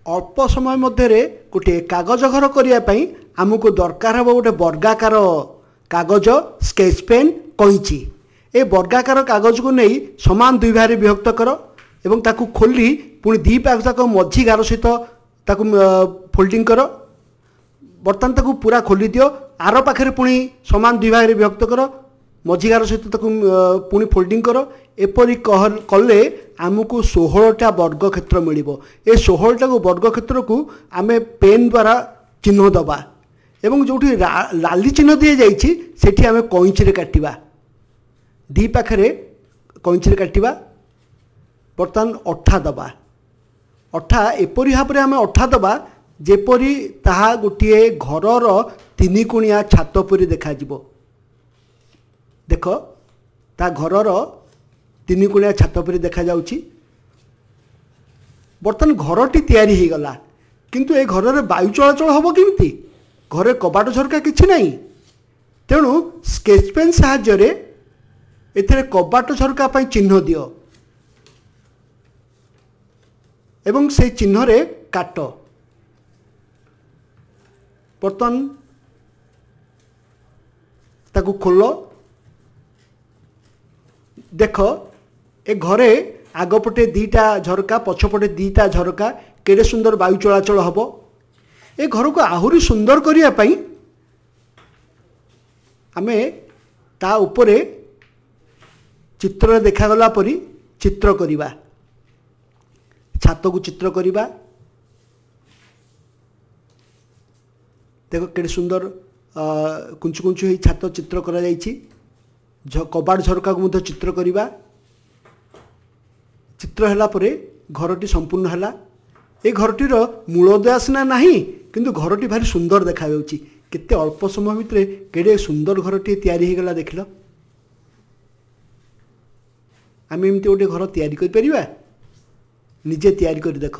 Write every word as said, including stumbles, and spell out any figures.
ଅଳ୍ପ ସମୟ ମଧ୍ୟରେ ଗୋଟିଏ କାଗଜ ଘର କରିବା ପାଇଁ ଆମକୁ ଦରକାର ହେବ ଗୋଟେ ବର୍ଗାକାର କାଗଜ, ସ୍କେଚ୍ ପେନ୍, କଇଁଚି। ଏ ବର୍ଗାକାର କାଗଜକୁ ନେଇ ସମାନ ଦୁଇ ଭାଗରେ ବିଭକ୍ତ କର ଏବଂ ତାକୁ ଖୋଲି ପୁଣି ଦୁଇ ପାଖ ଯାକ ମଝି ଗାର ସହିତ ତାକୁ ଫୋଲ୍ଡିଂ କର। ବର୍ତ୍ତମାନ ତାକୁ ପୁରା ଖୋଲି ଦିଅ। ଆର ପାଖରେ ପୁଣି ସମାନ ଦୁଇ ଭାଗରେ ବିଭକ୍ତ କର, ମଝି ଗାର ସହିତ ତାକୁ ପୁଣି ଫୋଲ୍ଡିଂ କର। ଏପରି କଲେ ଆମକୁ ଷୋହଳଟା ବର୍ଗକ୍ଷେତ୍ର ମିଳିବ। ଏ ଷୋହଳଟାକୁ ବର୍ଗକ୍ଷେତ୍ରକୁ ଆମେ ପେନ୍ ଦ୍ୱାରା ଚିହ୍ନ ଦେବା ଏବଂ ଯେଉଁଠି ଲାଲି ଚିହ୍ନ ଦିଆଯାଇଛି ସେଠି ଆମେ କଇଁଚିରେ କାଟିବା। ଦୁଇ ପାଖରେ କଇଁଚିରେ କାଟିବା। ବର୍ତ୍ତମାନ ଅଠା ଦେବା। ଅଠା ଏପରି ଭାବରେ ଆମେ ଅଠା ଦେବା ଯେପରି ତାହା ଗୋଟିଏ ଘରର ତିନି କୋଣିଆ ଛାତ ପରି ଦେଖାଯିବ। ଦେଖ, ତା ଘରର ତିନି କୋଣିଆ ଛାତ ପରି ଦେଖାଯାଉଛି। ବର୍ତ୍ତମାନ ଘରଟି ତିଆରି ହେଇଗଲା, କିନ୍ତୁ ଏ ଘରରେ ବାୟୁ ଚଳାଚଳ ହେବ କେମିତି? ଘରେ କବାଟ ଝରକା କିଛି ନାହିଁ। ତେଣୁ ସ୍କେଚ୍ ପେନ୍ ସାହାଯ୍ୟରେ ଏଥିରେ କବାଟ ଝରକା ପାଇଁ ଚିହ୍ନ ଦିଅ ଏବଂ ସେଇ ଚିହ୍ନରେ କାଟ। ବର୍ତ୍ତମାନ ତାକୁ ଖୋଲ। ଦେଖ, ଏ ଘରେ ଆଗପଟେ ଦୁଇଟା ଝରକା, ପଛପଟେ ଦୁଇଟା ଝରକା, କେଡ଼େ ସୁନ୍ଦର ବାୟୁ ଚଳାଚଳ ହେବ। ଏ ଘରକୁ ଆହୁରି ସୁନ୍ଦର କରିବା ପାଇଁ ଆମେ ତା ଉପରେ ଚିତ୍ରରେ ଦେଖାଗଲା ପରି ଚିତ୍ର କରିବା। ଛାତକୁ ଚିତ୍ର କରିବା। ଦେଖ, କେଡ଼େ ସୁନ୍ଦର କୁଞ୍ଚୁ କୁଞ୍ଚୁ ହେଇ ଛାତ ଚିତ୍ର କରାଯାଇଛି। କବାଟ ଝରକାକୁ ମଧ୍ୟ ଚିତ୍ର କରିବା। ଚିତ୍ର ହେଲା ପରେ ଘରଟି ସମ୍ପୂର୍ଣ୍ଣ ହେଲା। ଏ ଘରଟିର ମୂଳଦୁଆ ସିନା ନାହିଁ, କିନ୍ତୁ ଘରଟି ଭାରି ସୁନ୍ଦର ଦେଖାଯାଉଛି। କେତେ ଅଳ୍ପ ସମୟ ଭିତରେ କେଡ଼େ ସୁନ୍ଦର ଘରଟିଏ ତିଆରି ହେଇଗଲା ଦେଖିଲ। ଆମେ ଏମିତି ଗୋଟେ ଘର ତିଆରି କରିପାରିବା? ନିଜେ ତିଆରି କରି ଦେଖ।